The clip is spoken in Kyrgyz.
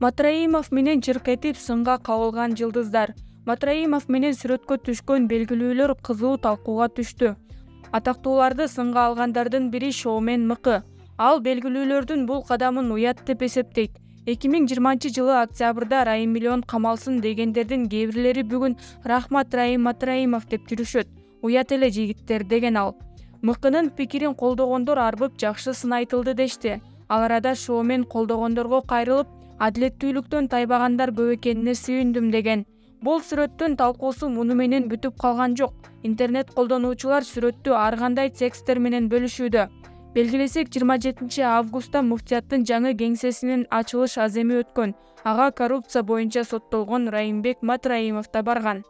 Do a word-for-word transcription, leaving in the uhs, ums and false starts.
Матраимов менен чыркетип сынга кабылган жылдыздар. Матраимов менен сүрөткө түшкөн белгилүүлөр кызуу талкууга түштү. Атактууларды сынга алгандардын бири шоумен Мыкы. Ал белгилүүлөрдүн бул кадамын уят деп эсептейт. эки миң жыйырманчы жылы октябрда Райым Миллион камалсын дегендердин кээ бирлери бүгүн рахмат Райым Матраимов деп жүрүшөт. Уят эле жигиттер деген ал. Мыкынын пикирин колдогондор арбып жакшы сын айтылды дешти. Ал арада шоумен колдогондорго кайрылып, адилеттүүлүктөн тайбагандар көп экенине сүйүндүм деген. Бул сүрөттүн талкуусу муну менен бүтүп калган жок. Интернет колдонуучулар сүрөттү ар кандай текстер менен бөлүшүүдө. Белгилесек, жыйырма жетинчи августта муфтияттын жаңы кеңсесинин ачылыш аземи өткөн. Ага коррупция боюнча соттолгон Райымбек Матраимов да барган.